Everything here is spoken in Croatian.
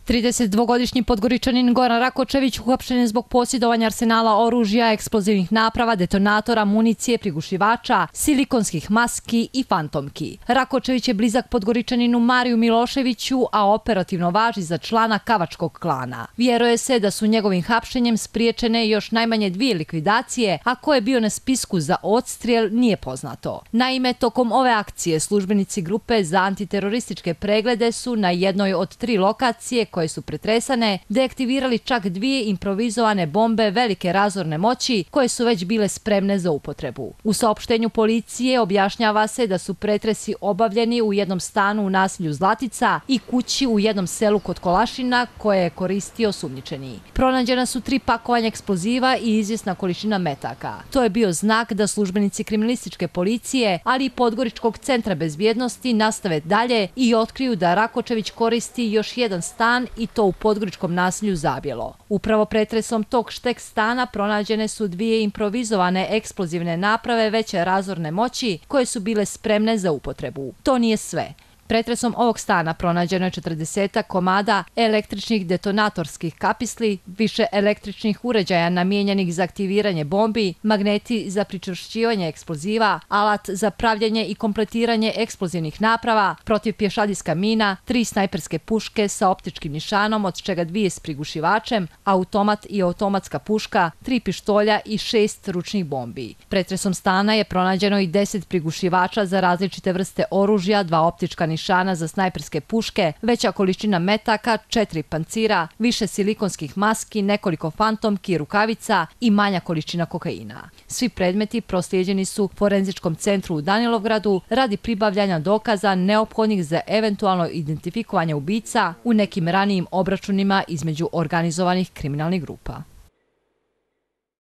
32-godišnji Podgoričanin Goran Rakočević uhapšen je zbog posjedovanja arsenala oružja, eksplozivnih naprava, detonatora, municije, prigušivača, silikonskih maski i fantomki. Rakočević je blizak Podgoričaninu Mariju Miloševiću, a operativno važi za člana Kavačkog klana. Vjeruje se da su njegovim hapšenjem spriječene još najmanje 2 likvidacije, a ko je bio na spisku za odstrijel nije poznato. Naime, tokom ove akcije službenici grupe za antiterorističke preglede su na jednoj od 3 lokacije koje su pretresane deaktivirali čak 2 improvizovane bombe velike razorne moći koje su već bile spremne za upotrebu. U saopštenju policije objašnjava se da su pretresi obavljeni u jednom stanu u naselju Zlatica i kući u jednom selu kod Kolašina koje je koristio osumnjičeni. Pronađena su 3 pakovanja eksploziva i izvjesna količina metaka. To je bio znak da službenici kriminalističke policije, ali i Podgoričkog centra bezbjednosti nastave dalje i otkriju da Rakočević koristi još jedan stan i to u podgoričkom naselju Zabjelo. Upravo pretresom tog štek stana pronađene su 2 improvizovane eksplozivne naprave veće razorne moći koje su bile spremne za upotrebu. To nije sve. Pretresom ovog stana pronađeno je 40 komada električnih detonatorskih kapisli, više električnih uređaja namijenjenih za aktiviranje bombi, magneti za pričvršćivanje eksploziva, alat za pravljenje i kompletiranje eksplozivnih naprava, protivpješadijska mina, 3 snajperske puške sa optičkim nišanom, od čega 2 s prigušivačem, automat i automatska puška, 3 pištolja i 6 ručnih bombi. Pretresom stana je pronađeno i 10 prigušivača za različite vrste oružja, 2 optička nišana za snajperske puške, veća količina metaka, 4 pancira, više silikonskih maski, nekoliko fantomki, rukavica i manja količina kokaina. Svi predmeti proslijeđeni su Forenzičkom centru u Danilovgradu radi pribavljanja dokaza neophodnih za eventualno identifikovanje ubica u nekim ranijim obračunima između organizovanih kriminalnih grupa.